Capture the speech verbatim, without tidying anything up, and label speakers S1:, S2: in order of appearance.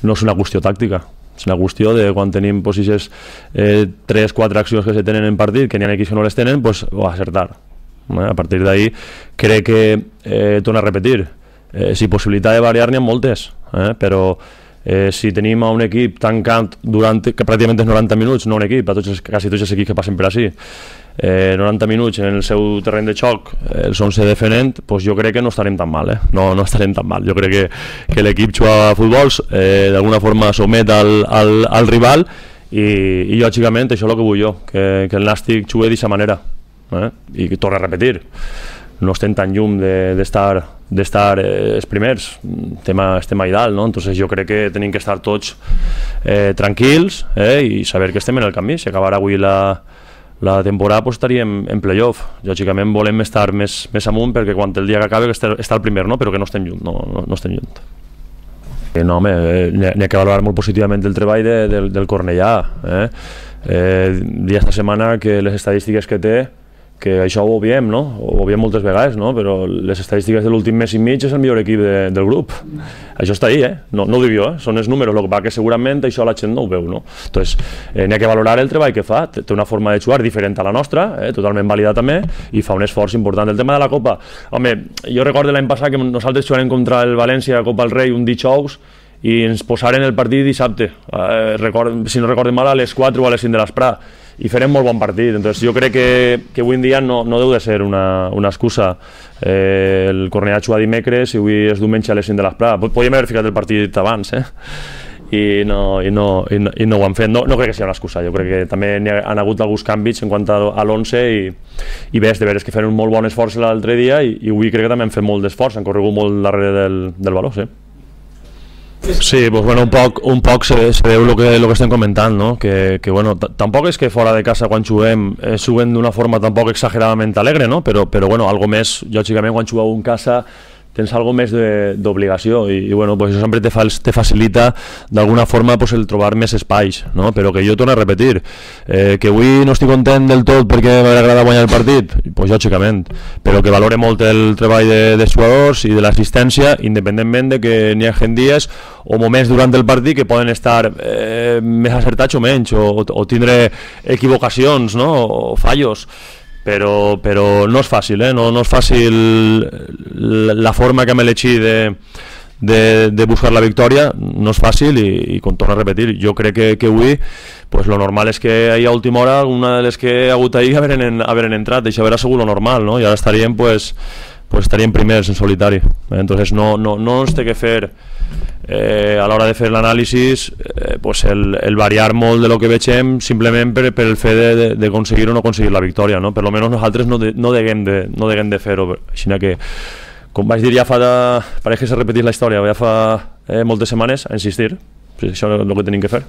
S1: No és una qüestió tàctica, és una qüestió de quan tenim aquestes tres quatre accions que se tenen en partit, que n'hi ha equips que no les tenen, doncs acertar. A partir d'ahí crec que, eh, torno a repetir, eh, si possibilitat de variar n'hi ha moltes, eh, però eh, si tenim a un equip tancant durant que pràcticament és noranta minuts, no un equip, a tots els, quasi tots els equips que passen per així, eh, noranta minuts en el seu terreny de xoc, eh, els onze defenent, doncs jo crec que no estarem tan mal, eh? no, no estarem tan mal. Jo crec que, que l'equip juga a futbol, eh, d'alguna forma somet al, al, al rival i, i lògicament això és el que vull jo, que, que el Nàstic jugui d'aquesta manera. Eh? I torno a repetir, no estem tan llum d'estar de, d'estar eh, els primers, estem a, estem a dalt, no? Entonces jo crec que tenim que estar tots eh, tranquils eh, i saber que estem en el camí. Si acabarà avui la, la temporada pues, estaríem en playoff. Lògicament volem estar més, més amunt perquè quan el dia que acabi estar, estar el primer, no? Però que no estem lluny, no, no, no estem lluny. Eh, no, home, eh, n'hi ha que valorar molt positivament el treball de, del, del Cornellà. Eh? Eh, dia esta setmana que les estadístiques que té, que això ho veiem, no? Ho veiem moltes vegades, no? Però les estadístiques de l'últim mes i mig és el millor equip de, del grup. Això està ahí, eh? No, no ho dic jo, eh? Són els números, el que va que segurament això la gent no ho veu, no? Entonces, eh, n'hi ha que valorar el treball que fa, té una forma de jugar diferent a la nostra, eh? Totalment vàlida també, i fa un esforç important. El tema de la Copa, home, jo recordo l'any passat que nosaltres jugarem contra el València a Copa del Rei un dijous i ens posaren el partit dissabte, eh, record, si no recordem mal, a les quatre o a les cinc de l'esprà, i farem molt bon partit. Entonces, jo crec que, que avui en dia no, no deu de ser una, una excusa. Eh, el Cornellà juga dimecres i avui és diumenge a les cinc de l'esprà. Podríem haver ficat el partit abans, eh? I no, i no, i no, i no ho han fet. No, no crec que sigui una excusa. Jo crec que també hi ha, han hagut alguns canvis en quant a, a l'onze i, i bé, és de veres que feren un molt bon esforç l'altre dia i, i avui crec que també han fet molt d'esforç, han corregut molt darrere del, del valor, sí. Sí, pues bueno, un poc, un poc se, se veu el que, lo que estem comentant, no? Que, que bueno, tampoc és que fora de casa quan juguem eh, juguem d'una forma tampoc exageradament alegre, no? Però, però bueno, algo més, lògicament quan jugueu en casa tens algo més d'obligació i, i bueno, pues això sempre te, fa, te facilita d'alguna forma pues, el trobar més espais, no? Però que jo torno a repetir, eh, que avui no estic content del tot perquè m'agrada guanyar el partit, pues lògicament, però que valore molt el treball de, de jugadors i de l'assistència, independentment de que n'hi ha dies o moments durant el partit que poden estar eh, més acertats o menys, o, o tindre equivocacions, no? O fallos. Però, però no és fàcil, eh? no, no és fàcil la forma que hem elegit de, de, de buscar la victòria, no és fàcil i, i com torno a repetir, jo crec que, que avui pues, lo normal és que ahir a última hora una de les que ha hagut ahir haveren, haveren entrat, això era segur lo normal, no? I ara estaríem, pues, pues, estaríem primers en solitari, eh? Entonces no, no, no ens té que fer Eh, a l'hora de fer l'anàlisi eh, pues el, el variar molt de lo que vegem simplement per, per el fet d'aconseguir o no aconseguir la victòria, no? Per lo menos nosaltres no, de, no deguem de, no deguem de fer-ho, així que com vaig dir ja fa de, pareix que s'ha repetit la història ja fa eh, moltes setmanes a insistir, això és el que tenim que fer.